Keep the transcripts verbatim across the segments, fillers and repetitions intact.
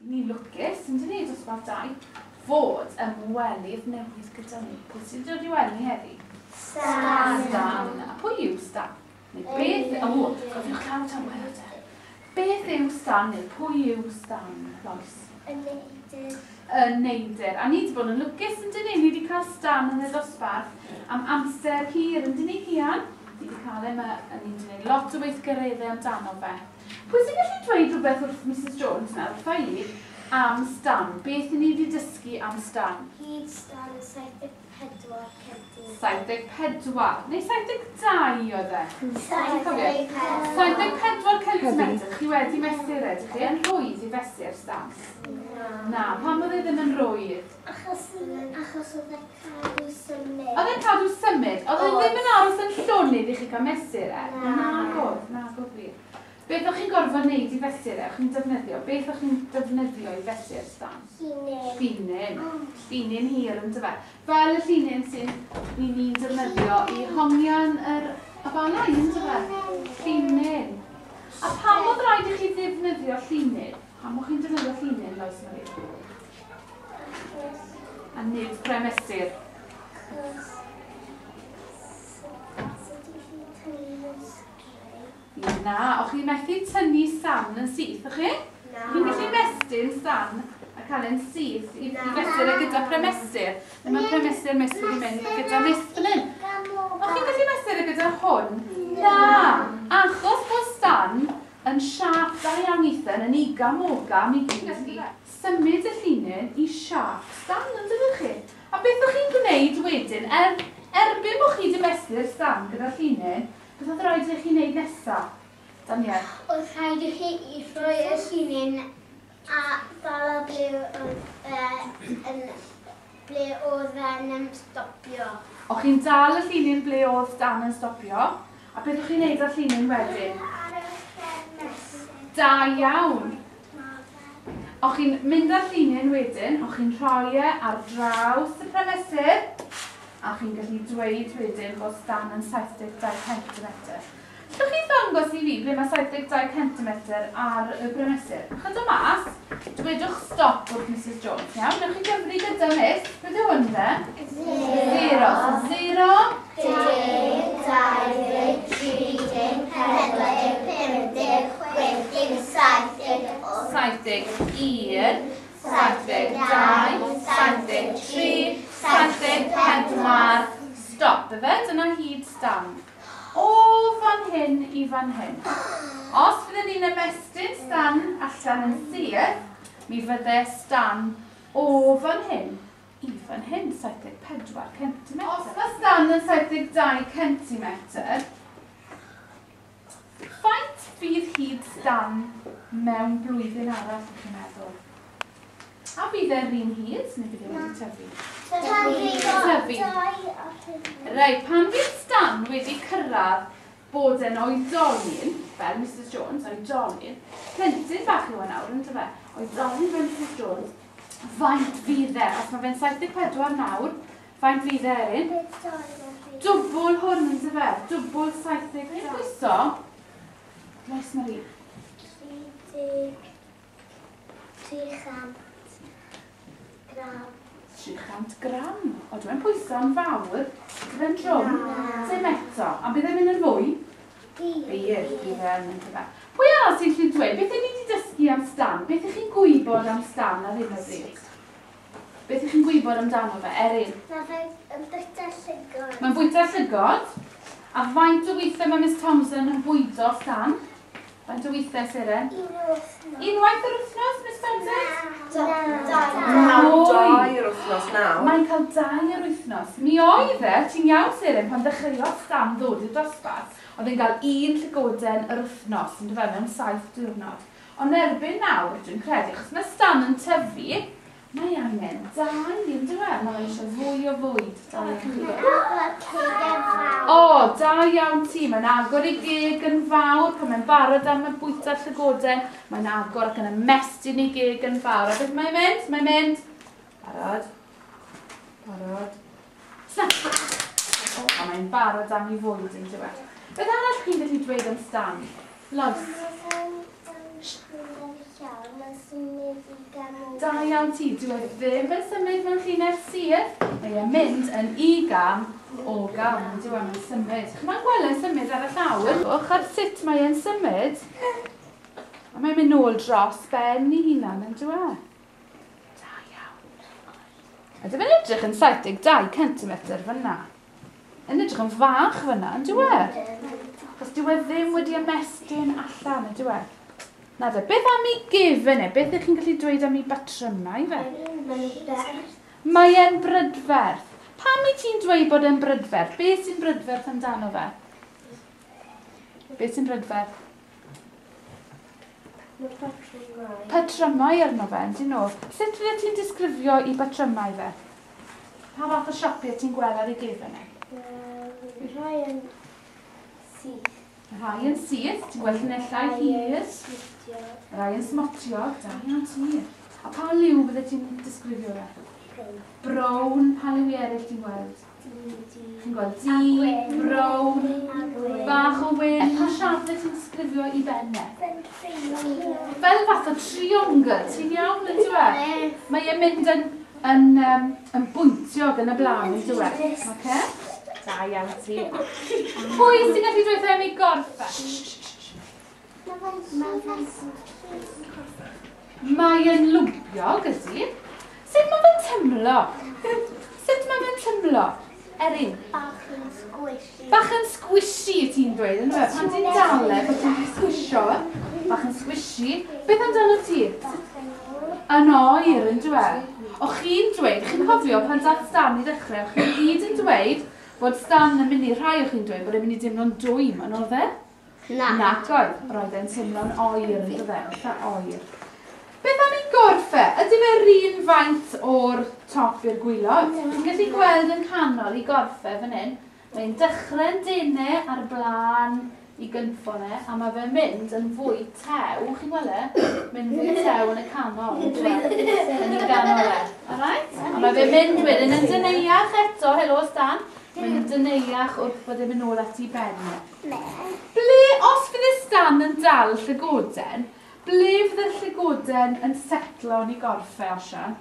Ni'n lwcus, yn dyn ni, dosbarth dau, fod ymwelydd newydd gyda ni. Pwy sy'n dod i weld ni heddi? Stan. Stan. A pwy yw Stan? Neu beth... O, cofiwch llaw tawel te. Beth yw Stan neu pwy yw Stan, Lois? Y neidr. Y neidr. A ni wedi bod yn lwcus, yn dyn ni? Ni wedi cael Stan yn y dosbarth am amser hir, yn dyn ni, Cian? Ni wedi cael e, a ni wedi gwneud lot o weithgareddau amdano fe. Pwy sy'n gallu dweud rhywbeth wrth Missus Jones nawr, wrtha i, am Stan? Beth ni wedi dysgu am Stan? Hyd Stan yn saith deg pedwar centimetr. saith deg pedwar. Neu saith deg dau oedd e? saith deg pedwar. saith deg pedwar centimetr. Chi wedi mesur e, ydych chi? Yn rhwydd i fesur Stan? Na. Na, pam oedd e ddim yn rhwydd? Achos, achos oedd e'n cadw symud. Oedd e'n cadw symud? Oedd e ddim yn aros yn llonydd i chi cael mesur e? Na. Nag oedd, nag oedd wir. Beth o'ch chi'n gorfod wneud i fesur e? O'ch chi'n defnyddio? Beth o'ch chi'n defnyddio i fesur Stan? Llinyn. Llinyn. Llinyn hir yn dyfe. Fel y llinyn sy'n ni'n ni'n defnyddio i hongian yr afalau yn dyfe. Llinyn. A pam oedd rhaid i chi ddefnyddio llinyn? Pam o'ch chi'n defnyddio llinyn, Lois Marie? A nid premesur. Achos sut i chi tynnu yn straight? Na, o'ch chi'n methu tynnu Stan yn syth, o'ch chi? Na. Chi'n gallu mestyn Stan a cael e'n syth i, i fesur e gyda premesur. Neu mae premesur miss wedi mynd gyda miss fan hyn. O'ch chi'n gallu mesur e gyda hwn? Na. Achos bod Stan yn siâp da iawn Ethan, yn igam ogam i gyd gallu symud y llinyn i siâp Stan, yn dydych chi? A beth o'ch chi'n gwneud wedyn, er, erbyn bod chi wedi mesur Stan gyda llinyn, beth oedd rhaid i chi wneud nesaf? Daniel? Oedd rhaid i chi i rhoi y llinyn a dala ble oedd e'n ble oedd e'n stopio. O'ch chi'n dal y llinyn ble oedd Dan yn stopio, a beth o'ch chi'n wneud â'r llinyn wedyn? Ar y premesur. Da iawn. O'ch chi'n mynd â'r llinyn wedyn, o'ch chi'n rhoi e ar draws y premesur, a chi'n gallu dweud wedyn bod Stan yn saith deg dau centimetr. Allwch chi ddangos i fi ble mae saith deg dau centimetr ar y bremesur? Chyda mas, dwedwch stop wrth Missus Jones, iawn? Newch chi gyfri gyda Miss. Beth yw hwn de? Zero. Zero. So zero. Deg, dau ddeg, tri deg, pedwar deg, pump deg, chwech deg, saith deg, wyth. Saith deg un, saith deg dau, saith deg tri, saith deg pedwar. Stop, ife? Dyna hyd Stan. O fan hyn i fan hyn. Os fydden ni'n ymestyn Stan allan yn syth, mi fydde Stan o fan hyn i fan hyn, saith deg pedwar centimetr. Os mae Stan yn saith deg dau centimetr, faint fydd hyd Stan mewn blwyddyn arall, ydych chi'n meddwl? A fydd e'r un hyd, neu fydd e wedi tyfu? Tyfu. Tyfu. Reit, pan fydd Stan wedi cyrraedd bod e'n oedolyn, fel Missus Jones, oedolyn, plentyn bach yw e nawr, yn dyfe? Oedolyn fel Missus Jones, faint fydd e? Os mae fe'n saith deg pedwar nawr, faint fydd e, Erin? Dwbl hwn, yn dyfe? Dwbl saith deg dau. Pwyso? Lois Marie. Tri deg, tri chant gram. Tri chant gram. O, dwi'n pwyso'n fawr. Bydd e'n drwm. Dim eto. A bydd e'n mynd yn fwy? Bydd. Bydd, bydd e'n mynd yn fwy. Pwy arall sy'n gallu dweud? Beth ydych chi wedi dysgu am Stan? Beth ydych chi'n gwybod am Stan ar hyn o bryd? Beth ydych chi'n gwybod amdano fe, Erin? Mae fe'n bwyta llygod. Mae'n bwyta llygod. A faint o weithiau mae Miss Thompson yn bwydo Stan? Faint o weithiau, Seren? Un wythnos. Unwaith yr wythnos, Miss Thompson? Na. Na. Dau yr wythnos nawr. Mae'n cael dau yr wythnos. Mi oedd e, ti'n iawn, Seren, pan ddechreuodd Stan ddod i'r dosbarth, oedd e'n cael un llygoden yr wythnos, yn dyfe, mewn saith diwrnod. Ond erbyn nawr, dwi'n credu, achos mae Stan yn tyfu, mae angen dau, yn dyfe? Mae eisiau fwy o fwyd. Da iawn chi. O, da iawn ti. Mae'n agor ei geg yn fawr pan mae'n barod am y bwyta llygoden. Mae'n agor ac yn ymestyn ei geg yn fawr. A beth mae'n mynd? Mae'n mynd. Barod. Barod. Snap! O, a mae'n barod am ei fwyd yn dyfe. Beth arall chi'n gallu dweud am Stan? Lois. Mae'n symud Da iawn ti, dyw e ddim yn symud mewn llinell syth. Mae e'n mynd yn i gam o gam, dyw e'n symud. Chi'n gweld e'n symud ar y llawr? Wch ar sut mae e'n symud. A mae'n mynd nôl dros ben ei hunan, yn dyw e? Da iawn. A dyw e'n edrych yn saith deg dau centimetr fyna. Yn edrych yn fach fyna, yn dyw e? Achos dyw e ddim wedi ymestyn allan, yn dyw e? Na de, beth am ei gefen e? Beth ych chi'n gallu dweud am ei batrymau fe? Mae e'n brydferth. Pam wyt ti'n dweud bod e'n brydferth? Beth sy'n brydferth amdano fe? Beth sy'n brydferth? Patrymau. Patrymau arno fe, yndyn nhw. Sut fydde ti'n disgrifio i batrymau fe? Pa fath o siapiau ti'n gweld ar ei gefen e? Rhai yn syth. Rhai yn syth, ti'n gweld llinellau hir. Rhai yn smotio, da iawn ti. A pa liw fydde ti'n disgrifio fe? Brown. Brown, pa liw eraill ti'n gweld? Ti'n gweld du, brown, bach o wyn. Pa siâp fydde ti'n disgrifio i ben e? Fel fath o triongl, ti'n iawn yn dyw e? Mae e'n mynd yn, yn, um, yn bwyntiog yn y blaen, yn dyw e? Okay? Da iawn ti. Pwy sy'n gallu dweud am ei gorff e? Mae e'n lwmpiog, ydy. Sut mae fe'n tymlo? Sut mae fe'n tymlo? Erin? Bach yn squishy. Bach yn squishy, ti'n dweud, yn dweud? Pan ti'n dal e, bod ti'n squisho. Bach yn squishy. Beth amdano ti? Yn oer, yn dweud? O chi'n dweud, chi'n cofio pan dath Stan i ddechrau, o chi'n gyd yn dweud bod Stan yn mynd i, rhai o chi'n dweud bod e'n mynd i deimlo'n dwym, yn oedd e? Na. Nac oedd. Roedd e'n teimlo'n oer, yn dweud, eitha oer. Beth am ei gorff e? Ydy fe'r un faint o'r top i'r gwylod? Chi'n gallu gweld yn canol ei gorff e fan hyn. Mae'n dechrau'n denau ar blaen i gynffon e, a mae fe'n mynd yn fwy tew, chi'n gweld e? Mynd fwy tew yn y canol. Yn y ganol e. Alright? A mae fe'n mynd wedyn yn deneuach eto, helo Stan. Mae'n yn deneuach wrth bod e'n mynd nôl at ei ben e. Ble, os fydd Stan yn dal llygoden, ble fydde'r llygoden yn setlo yn ei gorff e, Osian?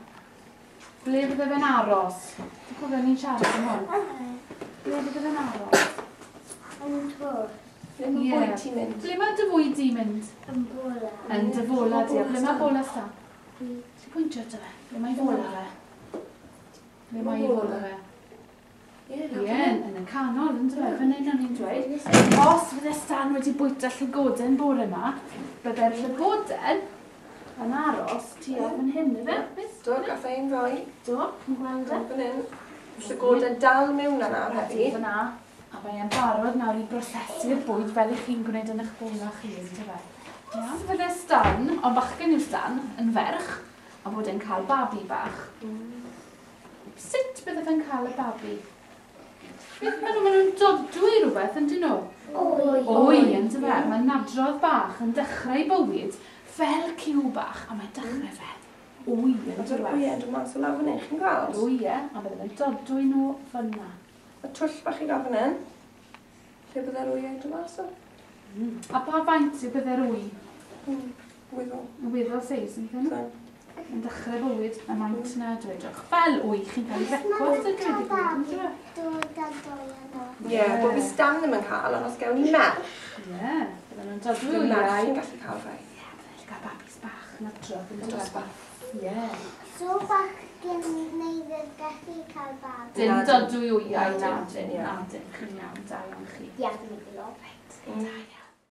Ble fydde fe'n aros? Dwi'n cofio ni'n siarad am hwn. Ble fydde fe'n aros? Yn twll. Ble mae bwyd ti'n mynd? Ble mae dy fwyd di'n mynd? Yn bola. Yn dy fola di. A ble mae bola Stan? Ti'n pwyntio ato fe? Ble mae fola fe? Ble mae fola fe? Ie, yn y canol, yn dweud, fan hyn o'n i'n dweud. Os fydde Stan wedi bwyta llygoden bore yma, bydde'r llygoden yn aros tua fan hyn, ife? Do, gath ein rhoi. Do, yn gweld e. Fan hyn. Llygoden dal mewn yna heddi. Fyna. A mae e'n barod nawr i brosesu'r bwyd fel ych chi'n gwneud yn eich bola chi, yndyfe? Iawn. Fydde Stan, ond bachgen yw Stan, yn ferch, a bod e'n cael babi bach. Sut bydde fe'n cael y babi? Beth maen nhw, maen nhw'n dodwy rhywbeth, yndyn nhw? Wy. Wy, yndyfe? Mae nadrodd bach yn dechrau bywyd fel cyw bach, a mae'n dechrau fel wy, yndyfe? Wy, yn dod mas o lawr fan hyn, chi'n gweld? Wy, e, a bydde fe'n dodwy nhw fyna. Y twll bach i gael fan hyn, lle bydde'r wyau dod mas o? A pa faint yw bydde'r wy? Weddol. Weddol seis, yn dyn? Yn dechrau bywyd, y maint na, dwedwch. Fel wy, chi'n cael ei frecwast yn dweud i gyd, yndyfe? Dod a dwy yno. Ie, bod fi Stan ddim yn cael, ond os gewn ni merch. Ie, bydden nhw'n dodwy Bydd merch wyau. yn gallu cael rhai. Ie, bydden nhw'n cael babis bach yn adrodd yn Yn dweud. dosbarth. Ie. So bachgen neu ddim gallu cael babi. Dim Na, dodwy wyau, Na, na, dim, dim, ie. na, dim. Chi'n iawn, da iawn chi. Ie, dwi'n gwybod. Da iawn.